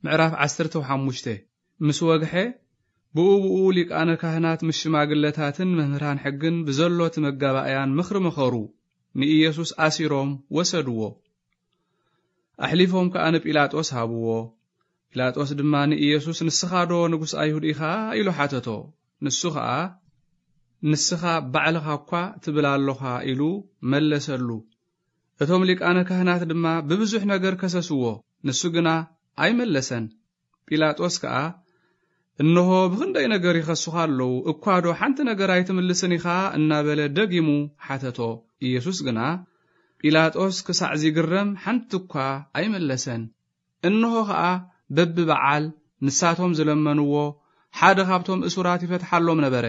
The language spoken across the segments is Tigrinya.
ምዕራፍ ዓሰርተ ሓሙሽተ። ምስ ወግሐ፣ ብኡ ብኡ ሊቃነ ካህናት ምስ ሽማግለታትን መምህራን ሕግን ብዘሎ እቲ መጋባእያን ምኽሪ መኸሩ፣ ንኢየሱስ ኣሲሮም ወሰድዎ። ኣሕሊፎም ከኣ ንጲላጦስ ሃብዎ። ጲላጦስ ድማ ንኢየሱስ፣ "ንስኻ ዶ ንጉስ ኣይሁድ ኢኻ?" ኢሉ ሓተቶ። ንሱ ኸኣ፣ "ንስኻ ባዕልኻ እኳ ትብል ኣሎኻ" ኢሉ መለሰሉ። እቶም ሊቃነ ካህናት ድማ ብብዙሕ ነገር ከሰስዎ፣ ንሱ ግና ኣይመለሰን። ጲላጦስ ከኣ፣ "እንሆ ብኽንደይ ነገር ይኸሱኻ ኣለዉ፣ እኳ ዶ ሓንቲ ነገር ኣይትምልስን ኢኻ?" እናበለ ደጊሙ ሓተቶ። ኢየሱስ ግና፣ ጲላጦስ ክሳዕ ዚግረም ሓንቲ እኳ ኣይመለሰን። እንሆ ኸኣ በብበዓል ንሳቶም ዝለመንዎ ሓደ ኻብቶም እሱራት ይፈትሓሎም ነበረ።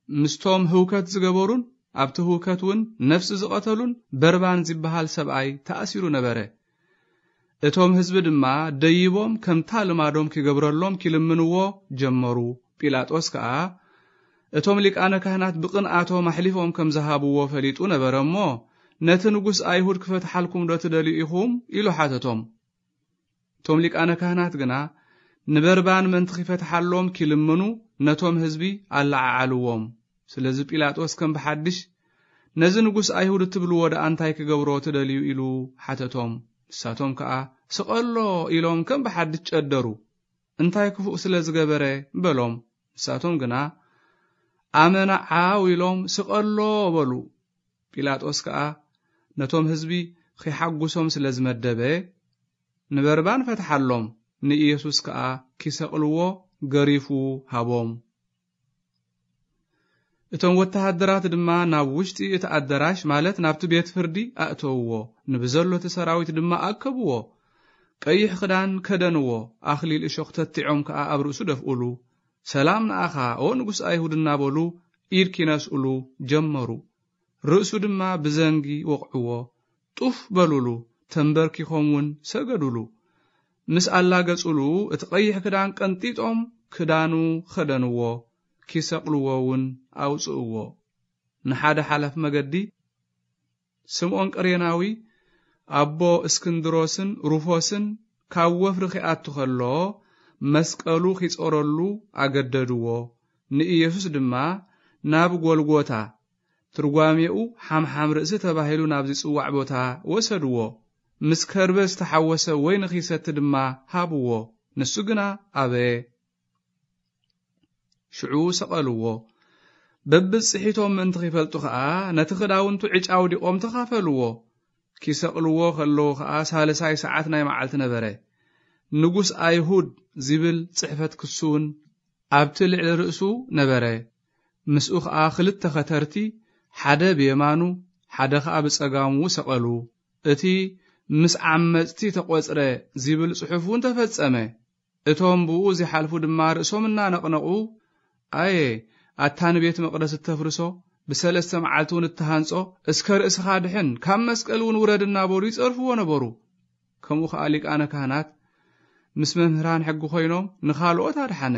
ምስቶም ህውከት ዝገበሩን ኣብቲ ህውከት እውን ነፍሲ ዝቐተሉን በርባን ዝበሃል ሰብኣይ ተኣሲሩ ነበረ። እቶም ህዝቢ ድማ ደይቦም ከምታ ልማዶም ኪገብረሎም ኪልምንዎ ጀመሩ። ጲላጦስ ከኣ እቶም ሊቃነ ካህናት ብቕንኣቶም ኣሕሊፎም ከም ዝሃብዎ ፈሊጡ ነበረ እሞ፣ "ነቲ ንጉስ ኣይሁድ ክፈትሓልኩም ዶ ትደልዩ ኢኹም?" ኢሉ ሓተቶም። እቶም ሊቃነ ካህናት ግና ንበርባን ምእንቲ ኺፈትሓሎም ኪልምኑ ነቶም ህዝቢ ኣለዓዓልዎም። ስለዚ ጲላጦስ ከም ብሓድሽ፣ "ነዚ ንጉስ ኣይሁድ እትብልዎ ደኣ እንታይ ክገብሮ ትደልዩ?" ኢሉ ሓተቶም። ንሳቶም ከኣ፣ "ስቐሎ!" ኢሎም ከም ብሓድሽ ጨደሩ። "እንታይ ክፉእ ስለ ዝገበረ?" በሎም። ንሳቶም ግና፣ "ኣመና ዓው!" ኢሎም፣ "ስቐሎ!" በሉ። ጲላጦስ ከኣ ነቶም ህዝቢ ኺሓጉሶም ስለ ዝመደበ፣ ንበርባን ፈትሓሎም፣ ንኢየሱስ ከኣ ኪሰቕልዎ ገሪፉ ሃቦም። እቶም ወተሃደራት ድማ ናብ ውሽጢ እቲ ኣደራሽ፣ ማለት ናብቲ ቤት ፍርዲ ኣእተውዎ። ንብዘሎ እቲ ሰራዊት ድማ ኣከብዎ። ቀይሕ ክዳን ከደንዎ፣ ኣኽሊል እሾኽ ተቲዖም ከኣ ኣብ ርእሱ ደፍኡሉ። "ሰላም ንኣኻ፣ ኦ ንጉስ ኣይሁድ" እናበሉ ኢድ ኪነስኡሉ ጀመሩ። ርእሱ ድማ ብዘንጊ ወቕዕዎ። ጡፍ በሉሉ፣ ተንበርኪኾም እውን ሰገዱሉ። ምስ ኣላገጹሉ፣ እቲ ቀይሕ ክዳን ቀንጢጦም ክዳኑ ኸደንዎ፣ ኪሰቕልዎ እውን ኣውጽእዎ። ንሓደ ሓላፍ መገዲ፣ ስምዖን ቅሬናዊ፣ ኣቦ እስክንድሮስን ሩፎስን ካብ ወፍሪ ኺኣቱ ኸሎ፣ መስቀሉ ኺጾረሉ ኣገደድዎ። ንኢየሱስ ድማ ናብ ጎልጎታ፣ ትርጓሜኡ ሓምሓም ርእሲ ተባሂሉ ናብ ዚጽዋዕ ቦታ ወሰድዎ። ምስ ከርበ ዝተሓወሰ ወይኒ ኺሰቲ ድማ ሃብዎ። ንሱ ግና ኣበየ። ሽዑ ሰቐልዎ። በብጽሒቶም ምእንቲ ኺፈልጡ ኸኣ፣ ነቲ ኽዳውንቱ ዕጫ ኣውዲቖም ተኻፈልዎ። ኪሰቕልዎ ኸለዉ ኸኣ፣ ሳልሳይ ሰዓት ናይ መዓልቲ ነበረ። "ንጉስ ኣይሁድ" ዚብል ጽሕፈት ክሱን ኣብቲ ልዕሊ ርእሱ ነበረ። ምስኡ ኸኣ ኽልተ ኸተርቲ፣ ሓደ ብየማኑ፣ ሓደ ኸኣ ብጸጋሙ ሰቐሉ። እቲ "ምስ ዓመጽቲ ተቖጽረ" ዚብል ጽሑፍ እውን ተፈጸመ። እቶም ብኡ ዚሓልፉ ድማ ርእሶም እናነቕነቑ፣ "ኣየ፣ ኣታ ንቤት መቕደስ እተፍርሶ፣ ብሰለስተ መዓልቲ እውን እትሃንጾ፣ እስከ ርእስኻ ድሕን፣ ካብ መስቀል እውን ውረድ" እናበሉ ይጸርፍዎ ነበሩ። ከምኡ ኸኣ ሊቃነ ካህናት ምስ መምህራን ሕጊ ኾይኖም ንኻልኦት ኣድሓነ፣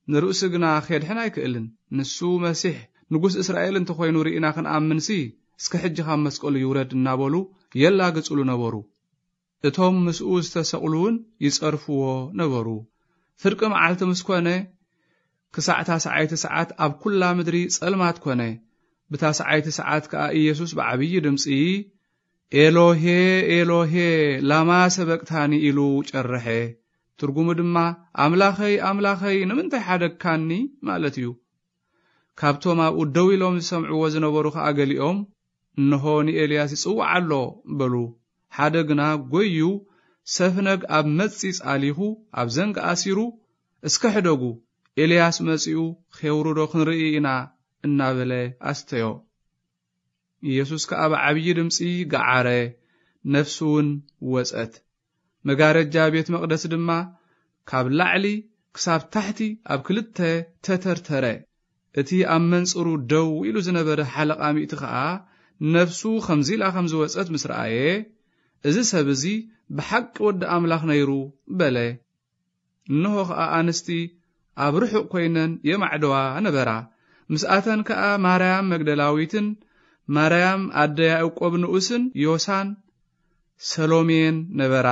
ንርእሱ ግና ኼድሕን ኣይክእልን። ንሱ መሲሕ ንጉስ እስራኤል እንተ ኾይኑ ርኢና ኽንኣምንሲ፣ እስከ ሕጂ ኻብ መስቀሉ ይውረድ እናበሉ የላግጹሉ ነበሩ። እቶም ምስኡ ዝተሰቕሉ እውን ይጸርፍዎ ነበሩ። ፍርቂ መዓልቲ ምስ ኮነ፣ ክሳዕ ታስዓይቲ ሰዓት ኣብ ኵላ ምድሪ ጸልማት ኮነ። ብታስዓይቲ ሰዓት ከኣ ኢየሱስ ብዓብዪ ድምጺ፣ "ኤሎሄ፣ ኤሎሄ፣ ላማ ሰበቅታኒ?" ኢሉ ጨርሐ። ትርጉሙ ድማ፣ "ኣምላኸይ፣ ኣምላኸይ፣ ንምንታይ ሓደግካኒ?" ማለት እዩ። ካብቶም ኣብኡ ደው ኢሎም ዝሰምዕዎ ዝነበሩ ኸኣ ገሊኦም፣ "እንሆ ንኤልያስ ይጽውዕ ኣሎ" በሉ። ሓደ ግና ጐይዩ ሰፍነግ ኣብ መጺጽ ኣሊኹ ኣብ ዘንግ ኣሲሩ፣ "እስከ ሕደጉ፣ ኤልያስ መጺኡ ኼውርዶ ክንርኢ ኢና" እናበለ ኣስተዮ። ኢየሱስ ከኣ ብዓብዪ ድምጺ ገዓረ፣ ነፍሱ እውን ወጸት። መጋረጃ ቤት መቕደስ ድማ ካብ ላዕሊ ክሳብ ታሕቲ ኣብ ክልተ ተተርተረ። እቲ ኣብ መንጽሩ ደው ኢሉ ዝነበረ ሓለቓ ሚእቲ ኸኣ ነፍሱ ኸምዚ ኢላ ኸም ዝወጸት ምስ ረኣየ፣ "እዚ ሰብ እዚ ብሓቂ ወዲ ኣምላኽ ነይሩ" በለ። እንሆ ኸኣ ኣንስቲ ኣብ ርሑቕ ኰይነን የማዕድዋ ነበራ። ምስኣተን ከኣ ማርያም መግደላዊትን ማርያም ኣደ ያዕቆብ ንኡስን ዮሳን ሰሎሜን ነበራ።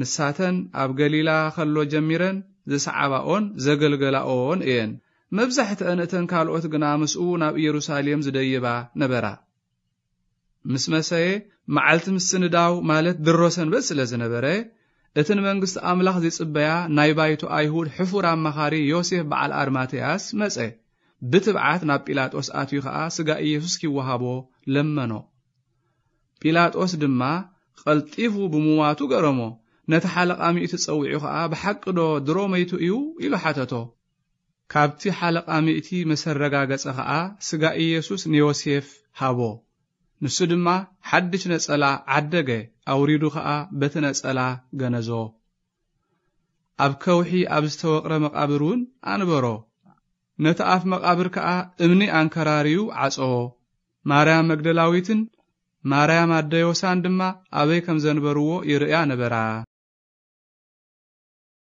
ንሳተን ኣብ ገሊላ ከሎ ጀሚረን ዝሰዓባኦን ዘገልገላኦን እየን። መብዛሕትአን እተን ካልኦት ግና ምስኡ ናብ ኢየሩሳሌም ዝደይባ ነበራ። ምስ መሰየ፣ መዓልቲ ምስንዳው ማለት ድሮ ሰንበት ስለ ዝነበረ፣ እቲ ንመንግስቲ ኣምላኽ ዝጽበያ ናይ ባይቶ ኣይሁድ ሕፉር ኣማኻሪ ዮሴፍ በዓል ኣርማትያስ መጸ። ብትብዓት ናብ ጲላጦስ ኣትዩ ኸኣ ስጋ ኢየሱስ ኪወሃቦ ለመኖ። ጲላጦስ ድማ ቀልጢፉ ብምዋቱ ገረሞ። ነቲ ሓለቓ ሚእቲ ጸዊዑ ኸኣ፣ "ብሓቂ ዶ ድሮ መይቱ እዩ?" ኢሉ ሓተቶ። ካብቲ ሓለቓ ሚእቲ መሰረጋገጸ ኸኣ፣ ስጋ ኢየሱስ ንዮሴፍ ሃቦ። ንሱ ድማ ሓድሽ ነጸላ ዓደገ፣ ኣውሪዱ ኸኣ በቲ ነጸላ ገነዞ። ኣብ ከውሒ ኣብ ዝተወቕረ መቓብር እውን ኣንበሮ። ነቲ ኣፍ መቓብር ከኣ እምኒ ኣንከራርዩ ዓጸዎ። ማርያም መግደላዊትን ማርያም ኣደ ዮሳን ድማ ኣበይ ከም ዘንበርዎ ይርእያ ነበራ።